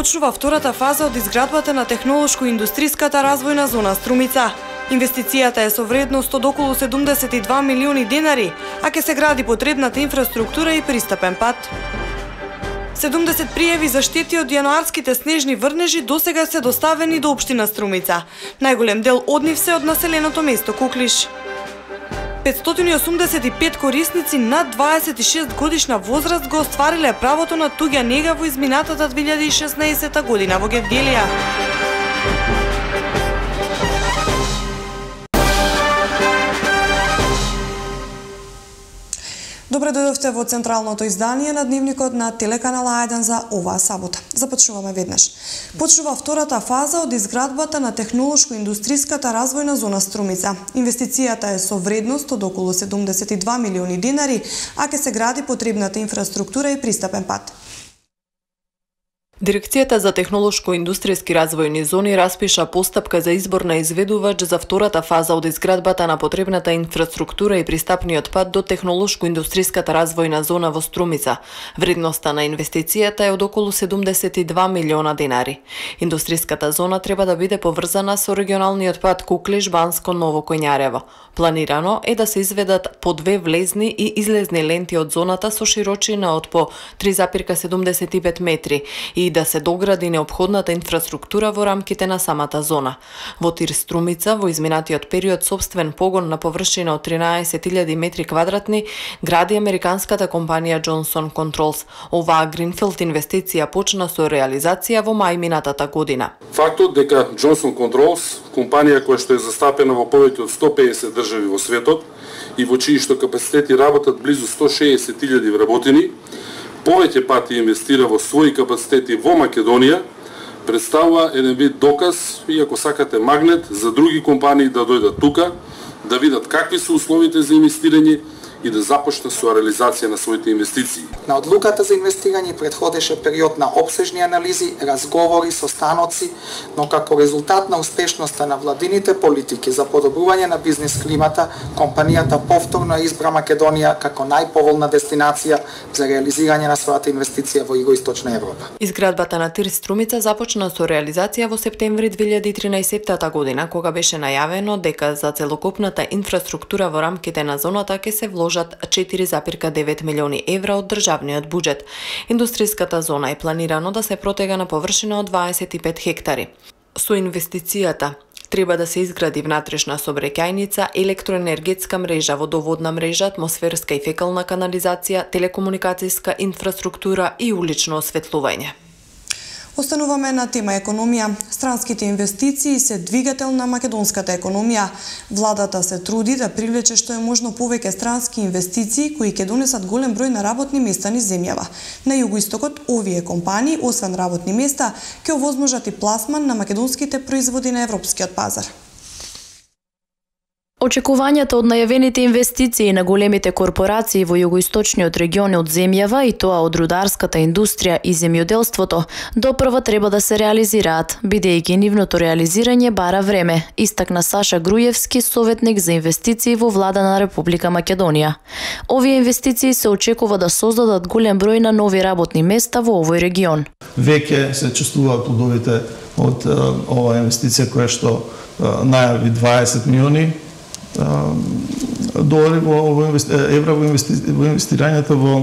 Започнува втората фаза од изградбата на технолошко-индустријската развојна зона Струмица. Инвестицијата е со вредност од околу 72 милиони денари, а ќе се гради потребната инфраструктура и пристапен пат. 70 пријави за штети од јануарските снежни врнежи досега се доставени до општина Струмица. Најголем дел од нив се од населеното место Куклиш. 585 корисници над 26 годишна возраст го оствариле правото на туѓа нега во изминатата 2016 година во Гевгелија. Добре дојдовте во централното издание на дневникот на телеканал А1 за оваа сабота. Започнуваме веднаш. Почнува втората фаза од изградбата на технолошко-индустријската развојна зона Струмица. Инвестицијата е со вредност од околу 72 милиони денари, а ќе се гради потребната инфраструктура и пристапен пат. Дирекцијата за технолошко-индустријски развојни зони распиша постапка за избор на изведувач за втората фаза од изградбата на потребната инфраструктура и пристапниот пат до технолошко-индустријската развојна зона во Струмица. Вредноста на инвестицијата е од околу 72 милиона денари. Индустријската зона треба да биде поврзана со регионалниот пат Куклиш, Банско, Ново Коњарево. Планирано е да се изведат по 2 влезни и излезни ленти од зоната со широчина од по 3,75 метри и да се догради неопходната инфраструктура во рамките на самата зона. Во Тир Струмица, во изминатиот период сопствен погон на површина од 13.000 метри квадратни, гради американската компанија Johnson Controls. Оваа гринфилд инвестиција почна со реализација во мај минатата година. Фактот дека Johnson Controls, компанија која што е застапена во повеќе од 150 држави во светот и во чии што капацитети работат близу 160.000 вработени, повеќе пати инвестира во своји капацитети во Македонија, представува еден вид доказ и ако сакате магнет за други компании да дојдат тука, да видат какви се условите за инвестирање и да започне со реализација на своите инвестиции. На одлуката за инвестирање предходеше период на опсежни анализи, разговори со станоци, но како резултат на успешноста на владините политики за подобрување на бизнис климата, компанијата повторно избра Македонија како најповолна дестинација за реализирање на својата инвестиција во Југоисточна Европа. Изградбата на Тир Струмица започна со реализација во септември 2013 година, кога беше најавено дека за целокупната инфраструктура во рамките на зоната ќе се вложат 4,9 милиони евра од државниот буџет. Индустријската зона е планирано да се протега на површина од 25 хектари. Со инвестицијата треба да се изгради внатрешна сообраќајница, електроенергетска мрежа, водоводна мрежа, атмосферска и фекална канализација, телекомуникацијска инфраструктура и улично осветлување. Остануваме на тема економија. Странските инвестиции се двигател на македонската економија. Владата се труди да привлече што е можно повеќе странски инвестиции кои ќе донесат голем број на работни места низ земјава. На југоистокот овие компании, освен работни места, ќе овозможат и пласман на македонските производи на европскиот пазар. Очекувањата од најавените инвестиции на големите корпорации во југоисточниот регион од земјава и тоа од рударската индустрија и земјоделството допрва треба да се реализираат, бидејќи нивното реализирање бара време, истакна Саша Груевски, советник за инвестиции во влада на Република Македонија. Овие инвестиции се очекува да создадат голем број на нови работни места во овој регион. Веќе се чувствуваат плодовите од оваа инвестиција која што најави 20 милиони долари евра во инвестирањето во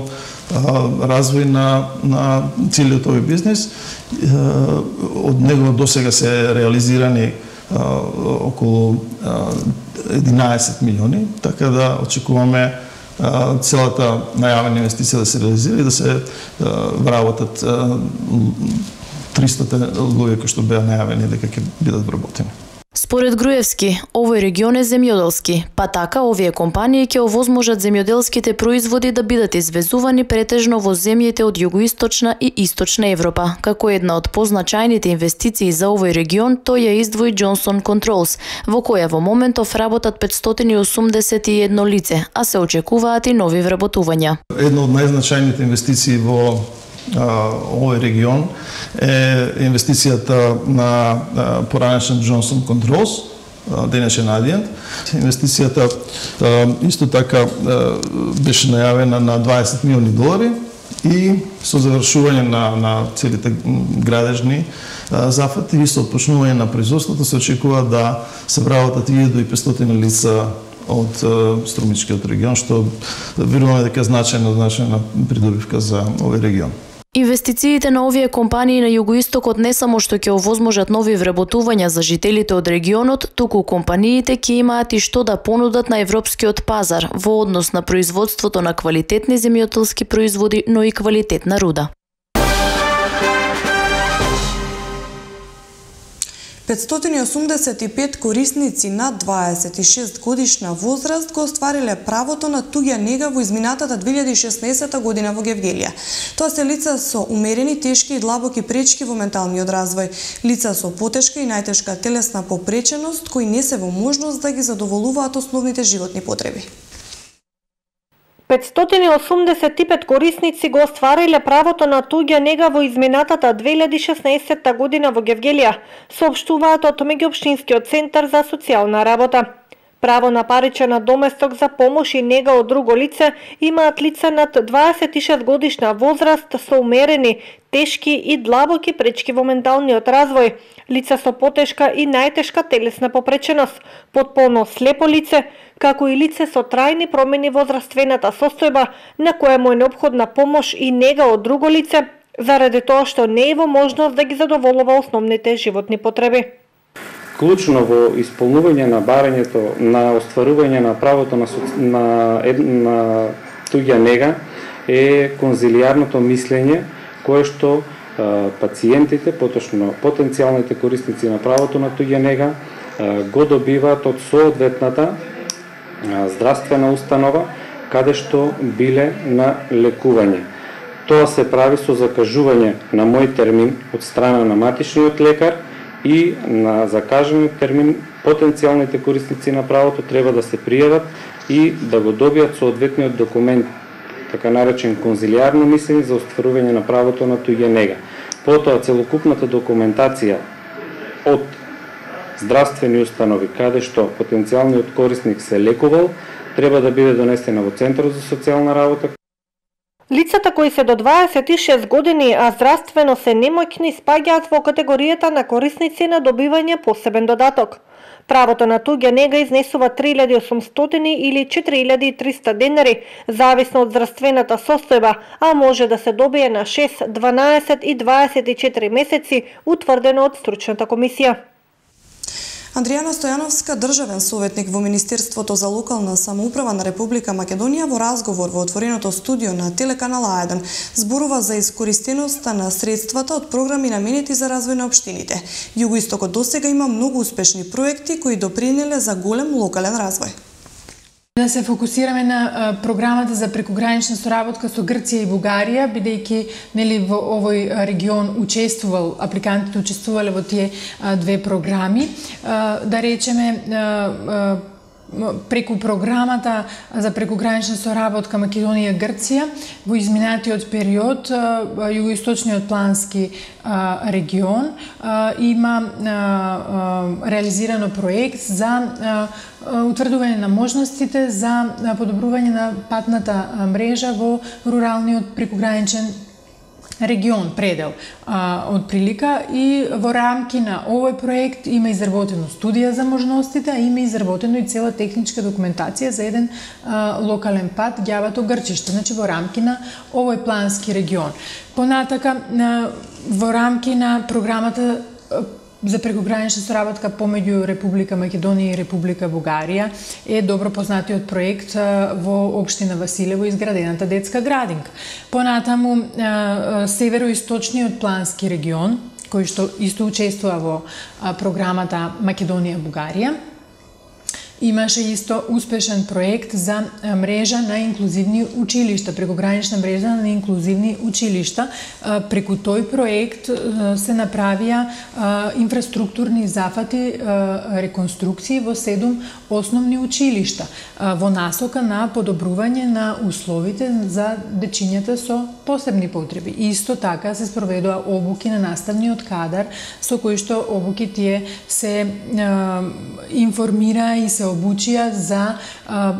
развој на целиот овој бизнес. Од него досега се реализирани околу 11 милиони, така да очекуваме целата најавена инвестиција да се реализира и да се вработат 300 луѓе кои што беа најавени дека ќе бидат вработени. Според Груевски, овој регион е земјоделски, па така овие компании ќе овозможат земјоделските производи да бидат извезувани претежно во земјите од Југоисточна и Источна Европа. Како една од позначајните инвестиции за овој регион, тој ја издвои Johnson Controls, во која во моментов работат 581 лице, а се очекуваат и нови вработувања. Една од најзначајните инвестиции во овој регион е инвестицијата на поранешен Johnson Controls, денешен Adient. Инвестицијата исто така беше најавена на 20 милиони долари И со завршување на целите градежни зафати и со отпочнување на производството се очекува да се вработат 1500 лица од Струмичкиот регион, што веруваме дека е значајна придобивка за овој регион. Инвестициите на овие компании на југоистокот не само што ќе овозможат нови вработувања за жителите од регионот, туку компаниите ќе имаат и што да понудат на европскиот пазар во однос на производството на квалитетни земјоделски производи, но и квалитетна руда. 585 корисници над 26 годишна возраст го оствариле правото на туѓа нега во изминатата 2016 година во Гевгелија. Тоа се лица со умерени, тешки и длабоки пречки во менталниот развој, лица со потешка и најтешка телесна попреченост кои не се во можност да ги задоволуваат основните животни потреби. 585 корисници го оствариле правото на туѓа нега во изминатата 2016 година во Гевгелија, соопштуваат од меѓуопштинскиот центар за социјална работа. Право на паричен надоместок за помош и нега од друго лице имаат лица над 26 годишна возраст со умерени, тешки и длабоки пречки во менталниот развој, лица со потешка и најтешка телесна попреченост, потполно слепо лице, како и лице со трајни промени во здравствената состојба, на која му е неопходна помош и нега од друго лице, заради тоа што не е во можност да ги задоволува основните животни потреби. Клучно во исполнување на барањето на остварување на правото на туѓа нега е конзилијарното мислење, кое што пациентите, поточно потенцијалните корисници на правото на туѓа нега, го добиваат од соодветната здравствена установа каде што биле на лекување. Тоа се прави со закажување на мој термин од страна на матичниот лекар и на закажениот термин потенцијалните корисници на правото треба да се пријават и да го добијат соодветниот документ, така наречен конзилијарно мислење за остварување на правото на туѓа нега. Потоа целокупната документација од здравствени установи каде што потенцијалниот корисник се лекувал треба да биде донесена во Центарот за социјална работа. Лицата кои се до 26 години, а здравствено се немоќни, спаѓаат во категоријата на корисници на добивање посебен додаток. Правото на туѓа нега изнесува 3800 или 4300 денари, зависно од здравствената состојба, а може да се добие на 6, 12 и 24 месеци, утврдено од стручната комисија. Андријана Стојановска, државен советник во Министерството за локална самоуправа на Република Македонија, во разговор во отвореното студио на телеканал А1 зборува за искористеноста на средствата од програми наменети за развој на општините. Југоистокот досега има многу успешни проекти кои допринеле за голем локален развој. Да се фокусираме на програмата за прекогранична соработка со Грција и Бугарија, бидејќи во овој регион апликантите учествувале во тие две програми. Да речеме, преку програмата за прекогранична соработка Македонија-Грција во изминатиот период југоисточниот плански регион има реализирано проект за утврдување на можностите за подобрување на патната мрежа во руралниот прекограничен регион, предел од прилика, и во рамки на овој проект има изработено студија за можностите, а има изработено и цела техничка документација за еден локален пат Ѓавато-Грчиште, значи во рамки на овој плански регион. Понатака, во рамки на програмата за прекогранична соработка помеѓу Република Македонија и Република Бугарија е добро познатиот проект во општина Василево, изградената детска градинка. Понатаму североисточниот плански регион, кој што исто учествува во програмата Македонија-Бугарија, имаше исто успешен проект за мрежа на инклузивни училишта, прекогранична мрежа на инклузивни училишта. Преку тој проект се направија инфраструктурни зафати, реконструкции во 7 основни училишта во насока на подобрување на условите за дечињата со посебни потреби. Исто така се спроведува обуки на наставниот кадар, со кои што обуки тие се информира и се се обучија за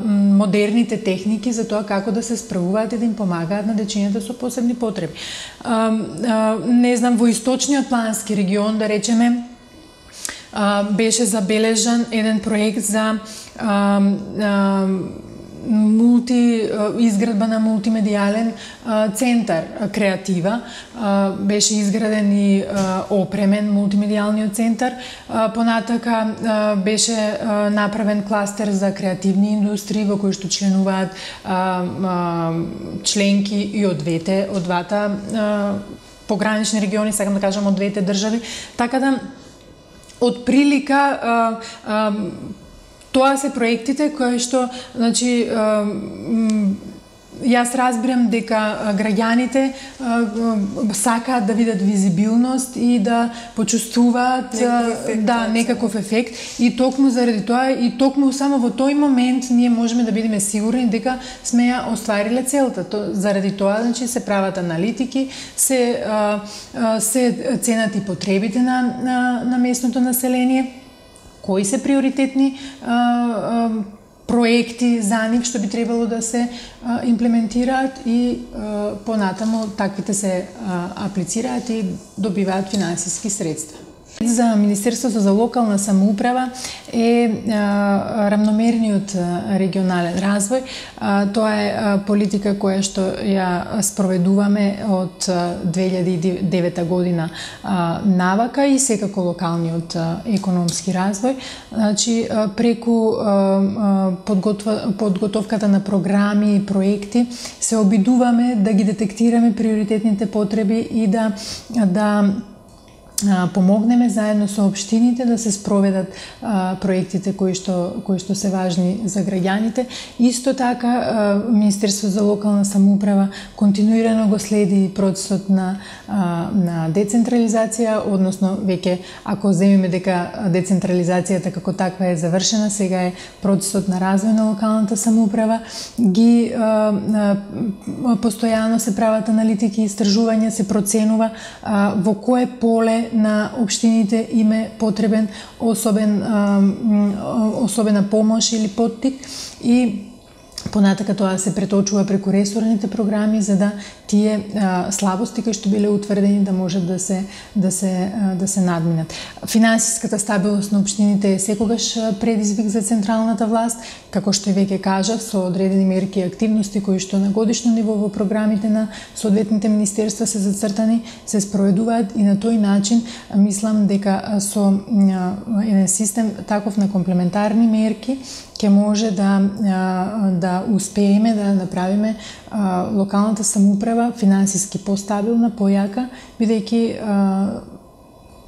модерните техники за тоа како да се справуваат и да им помагаат на дечињата со посебни потреби. Не знам, во источниот плански регион, да речеме, беше забележан еден проект за изградба на мултимедијален центар креатива. Беше изграден и опремен мултимедијалниот центар. Понатака беше направен кластер за креативни индустрии во кои што членуваат членки и од двата погранични региони, сакам да кажам од двете држави. Така да од прилика тоа се проектите кои што, значи, јас разбирам дека граѓаните сакаат да видат визибилност и да почувствуваат некаков ефект, и токму заради тоа и токму само во тој момент ние можеме да бидеме сигурни дека сме ја оствариле целта. Заради тоа, значи, се прават аналитики, се ценат и потребите на местното население, кои се приоритетни проекти за нив што би требало да се имплементираат и понатаму таквите се аплицираат и добиваат финансиски средства. За Министерството за локална самоуправа е рамномерниот регионален развој. Тоа е политика која што ја спроведуваме од 2009 година навака и секако локалниот економски развој. Значи, преку подготовката на програми и проекти се обидуваме да ги детектираме приоритетните потреби и да помогнеме заедно со општините да се спроведат проектите кои што се важни за граѓаните. Исто така, Министерството за локална самоуправа континуирано го следи процесот на децентрализација, односно веќе ако земеме дека децентрализацијата како таква е завршена, сега е процесот на развој на локалната самоуправа. Постојано се прават аналитики и истражувања, се проценува во кое поле на општините им е потребен особена помош или поттик, и понатака тоа се преточува преку ресорните програми за да тие слабости кои што биле утврдени да можат да се надминат. Финансиската стабилност на општините е секогаш предизвик за централната власт, како што и веќе кажав, со одредени мерки и активности кои што на годишно ниво во програмите на соодветните министерства се зацртани, се спроведуваат, и на тој начин мислам дека со еден систем таков на комплементарни мерки ќе може да успееме да направиме локалната самоуправа финансиски постабилна, појака, бидејќи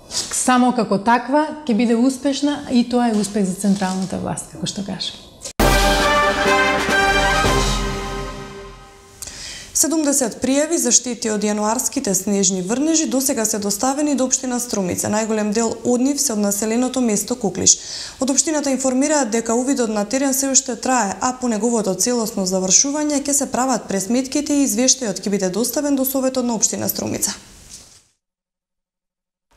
само како таква ќе биде успешна, и тоа е успех за централната власт, како што кажам. 70 пријави за штети од јануарските снежни врнежи досега се доставени до општина Струмица. Најголем дел од нив се од населеното место Куклиш. Од општината информираат дека увидот на терен се уште трае, а по неговото целосно завршување ќе се прават пресметките и извештајот ќе биде доставен до Советот на општина Струмица.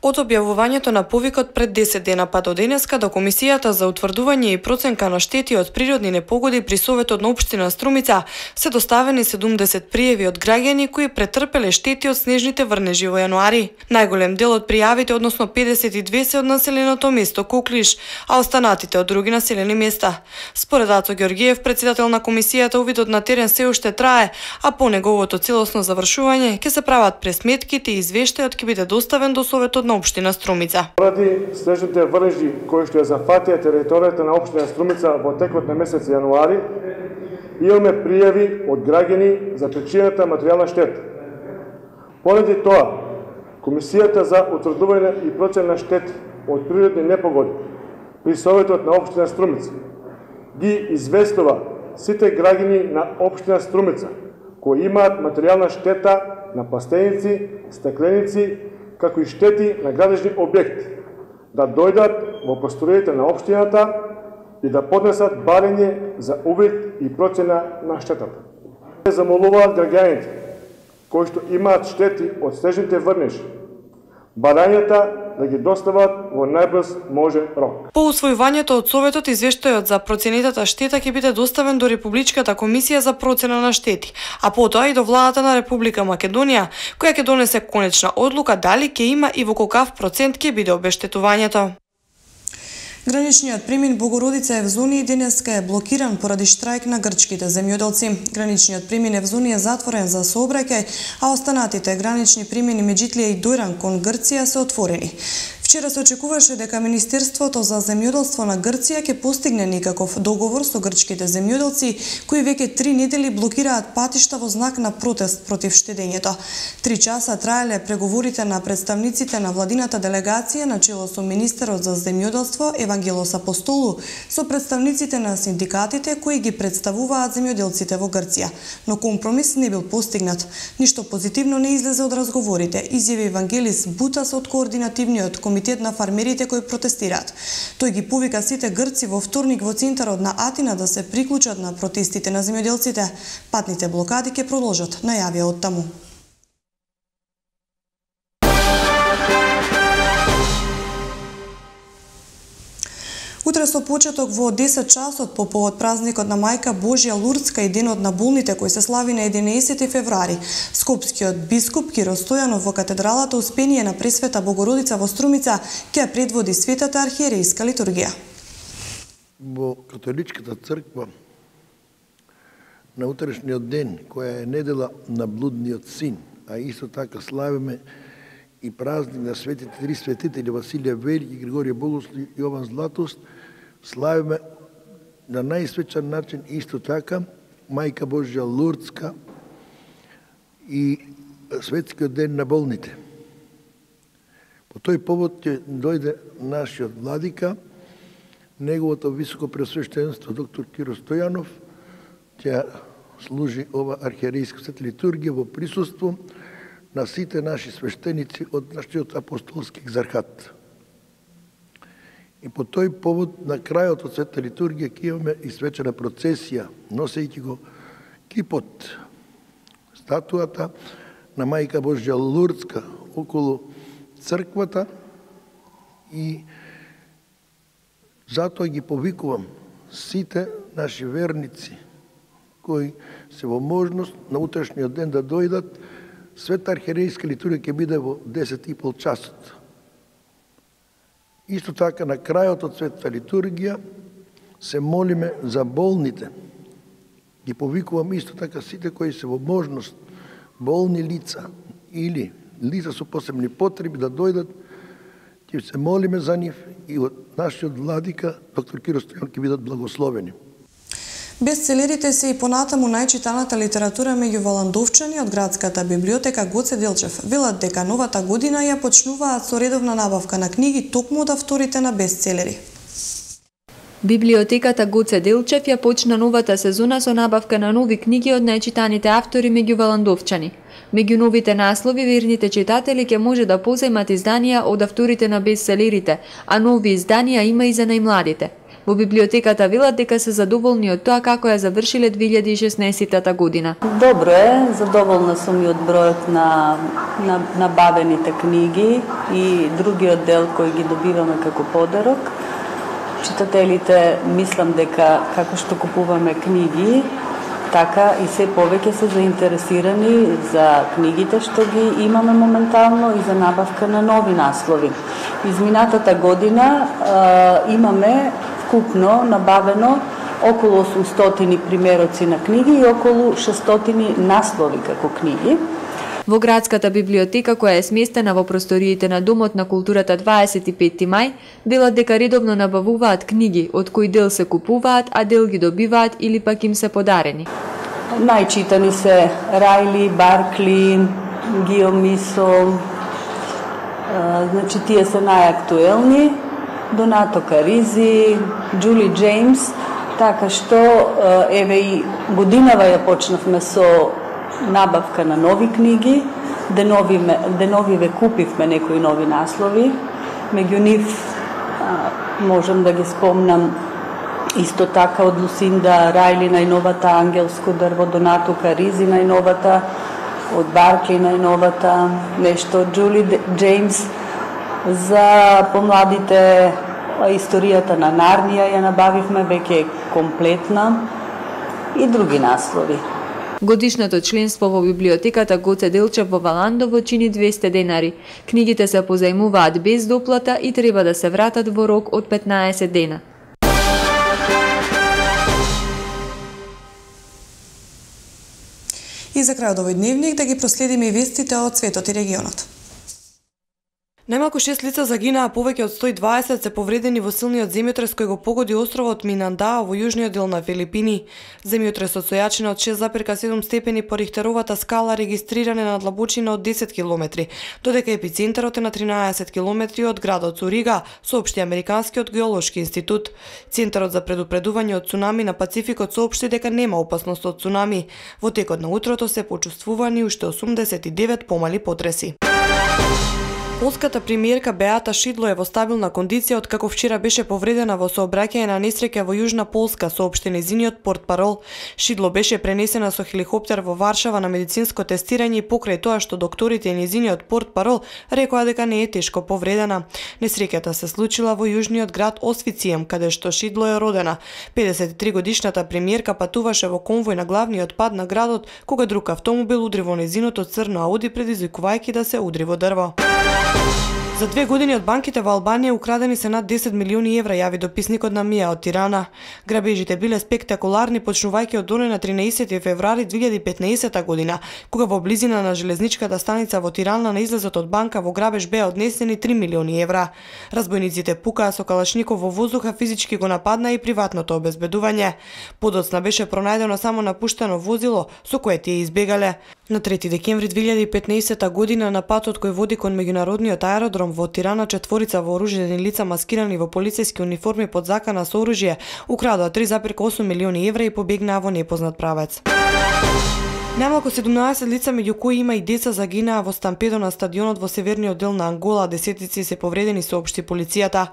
Од објавувањето на повикот пред 10 дена па до денеска до Комисијата за утврдување и проценка на штети од природни непогоди при Советот на општина Струмица се доставени 70 пријави од граѓани кои претрпеле штети од снежните врнежи во јануари. Најголем дел од пријавите, односно 52, се од населеното место Куклиш, а останатите од други населени места. Според Ацо Ѓоргиев, председател на Комисијата, увидот на терен се уште трае, а по неговото целосно завршување ќе се прават пресметките и извештајот ќе биде доставен до Советот на општина Струмица. Поради снежните врнежи кои што ја зафатија територијата на општина Струмица во текот на месец јануари, имаме пријави од граѓани за причинета материјална штета. Поради тоа, Комисијата за утврдување и процена на штети од природни непогоди при Советот на општина Струмица ги известува сите граѓани на општина Струмица кои имаат материјална штета на пластеници, стекленици, како и штети на градежни објекти, да дојдат во просториите на општината и да поднесат барање за увид и процена на штетата. Замолуваат граѓаните кои што имаат штети од снежните врнежи, барањата да ги достават во најбрз можен рок. По усвојувањето од Советот, извештајот за проценетата штета ќе биде доставен до Републичката комисија за процена на штети, а потоа и до владата на Република Македонија, која ќе донесе конечна одлука дали ќе има и во колкав процент ќе биде обештетувањето. Граничниот премин Богородица Евзони денеска е блокиран поради штрајк на грчките земјоделци. Граничниот премин Евзони е затворен за сообраќај, а останатите гранични премини Меджитлија и Дојран кон Грција се отворени. Вчера се очекуваше дека Министерството за земјоделство на Грција ќе постигне некаков договор со грчките земјоделци, кои веќе 3 недели блокираат патишта во знак на протест против штедењето. 3 часа траеле преговорите на представниците на владината делегација на чело со министерот за земјоделство Евангелос Апостолу со представниците на синдикатите кои ги представуваат земјоделците во Грција, но компромис не бил постигнат. Ништо позитивно не излезе од разговорите, изјави Евангелис Бутас од координативниот комитет на фармерите кои протестираат. Тој ги повика сите грци во вторник во центарот на Атина да се приклучат на протестите на земјоделците. Патните блокади ќе продолжат, најавија од таму. Утре со почеток во 10 часот по повод празникот на Мајка Божја Лурдска и денот на болните кој се слави на 11 февруари, скопскиот бискуп Киро Стојанов во катедралата Успение на Пресвета Богородица во Струмица ќе предводи светата архиерейска литургија. Во католичката црква на утрешниот ден, која е недела на блудниот син, а исто така славиме и празник на светите три светители Василија Велики, Григорија Богослов и Јован Златост, славиме на најсвечан начин исто така Мајка Божја Лурдска и светскиот ден на болните. По тој повод ќе дојде нашиот владика, неговото високо пресвещенство доктор Киро Стојанов, ќе служи ова архиерейска света литургија во присуство на сите наши свештеници од нашиот апостолски екзархат. И по тој повод, на крајот од света литургија, ќе имаме и свечена процесија, носејќи го кипот, статуата на Мајка Божја Лурдска околу црквата, и затоа ги повикувам сите наши верници кои се во можност на утрешниот ден да дојдат. Света архиерейска литургија ќе биде во 10:30 часот. Исто така, на крајот од света литургија се молиме за болните. Ги повикувам исто така сите кои се во можност, болни лица или лица со посебни потреби да дојдат, ќе се молиме за нив и од нашиот владика, доктор Киро Стојанов, ќе бидат благословени. Бестселерите се и понатаму најчитаната литература меѓу валандовчани од градската библиотека Гоце Делчев. Велат дека новата година ја почнуваат со редовна набавка на книги токму од авторите на бестселери. Библиотеката Гоце Делчев ја почна новата сезона со набавка на нови книги од најчитаните автори меѓу валандовчани. Меѓу новите наслови, верните читатели ќе може да позајмат изданија од авторите на бестселерите, а нови изданија има и за најмладите. Во библиотеката велат дека се задоволни од тоа како ја завршиле 2016 година. Добро е, задоволна сум и од бројот на набавените книги и другиот дел кој ги добиваме како подарок. Читателите, мислам дека како што купуваме книги, така и се повеќе се заинтересирани за книгите што ги имаме моментално и за набавка на нови наслови. Изминатата година имаме вкупно набавено околу 800 примероци на книги и околу 600 наслови како книги. Во градската библиотека, која е сместена во просториите на Домот на културата 25 мај, велат дека редовно набавуваат книги, од кои дел се купуваат, а дел ги добиваат или пак им се подарени. Најчитани се Рајли, Баркли, Гио Мисо, значи тие се најактуелни, Донато Каризи, Джули Джеймс, така што еве и годинава ја почнавме со набавка на нови книги, деновиве купивме некои нови наслови, меѓу нив можам да ги спомнам исто така од Лусинда Рајли најновата Ангелско дрво, Донато Каризи најновата, од Баркли најновата, нешто од Джули Джеймс, За помладите историјата на Нарнија ја набавивме, веќе комплетна, и други наслови. Годишното членство во библиотеката Гоце Делчев во Валандово чини 200 денари. Книгите се позајмуваат без доплата и треба да се вратат во рок од 15 дена. И за крајот овој дневник да ги проследиме и вестите од светот и регионот. Најмалку 6 лица загинаа, повеќе од 120 се повредени во силниот земјотрес кој го погоди островот Минандао во јужниот дел на Филипини. Земјотресот со јачина од 6,7 степени по Рихтеровата скала регистриран на длабочина од 10 км, додека епицентарот е на 13 км од градот Сурига, соопшти Американскиот геолошки институт. Центарот за предупредување од цунами на Пацификот соопшти дека нема опасност од цунами. Во текот на утрото се почувствувани уште 89 помали потреси. Полската премиерка Беата Шидло е во стабилна кондиција откако вчера беше повредена во сообраќање на несреќа во Јужна Полска, соопшти нејзиниот портпарол. Шидло беше пренесена со хеликоптер во Варшава на медицинско тестирање и покрај тоа што докторите и нејзиниот портпарол рекоа дека не е тешко повредена. Несреќата се случила во јужниот град Освицием, каде што Шидло е родена. 53 годишната премиерка патуваше во конвој на главниот пат на градот кога друг автомобил удри во нејзиното црно Ауди, предизвикувајќи да се удри во дрво. За 2 години од банките во Албанија украдени се над 10 милиони евра, јави дописникот на Мија од Тирана. Грабежите биле спектакуларни, почнувајќи од оној на 13 февруари 2015 година, кога во близина на железничката станица во Тирана на излезот од банка во грабеж беа однесени 3 милиони евра. Разбойниците пукаа со калашников во воздуха, физички го нападнаа и приватното обезбедување. Подоцна беше пронајдено само напуштено возило со кое тие избегале. На 3 декември 2015 година на патот кој води кон меѓународниот аеродром во Тирана, четворица вооружени лица маскирани во полициски униформи под закана со оружје украдоа 3,8 милиони евра и побегнаа во непознат правец. Најмалку 17 лица, меѓу кои има и деца, загинаа во стампедо на стадионот во северниот дел на Ангола, десетици се повредени, соопшти полицијата.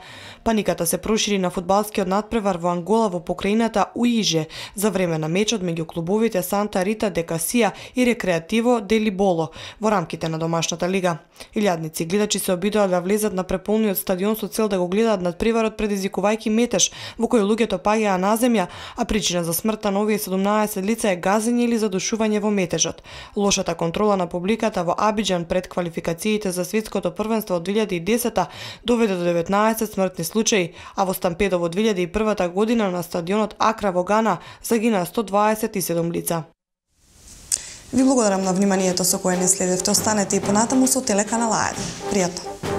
Паниката се прошири на фудбалскиот надпревар во Ангола во покрајината Уиже за време на мечот меѓу клубовите Санта Рита де Касија и Рекреативо де Либоло во рамките на домашната лига. Илјадници гледачи се обидоа да влезат на преполниот стадион со цел да го гледаат надпреварот, предизвикувајќи метеж во кој луѓето паѓаа на земја, а причина за смртта на овие 17 лица е газење или задушување во метежот. Лошата контрола на публиката во Абиџан пред квалификациите за светското првенство од 2010 доведе до 19 смртни случаи, а во стампедо во 2001 година на стадионот Акра во Гана загинаа 127 лица. Ви благодарам на вниманието со кое не следевте. Останете и понатаму со телеканал А1. Пријатно.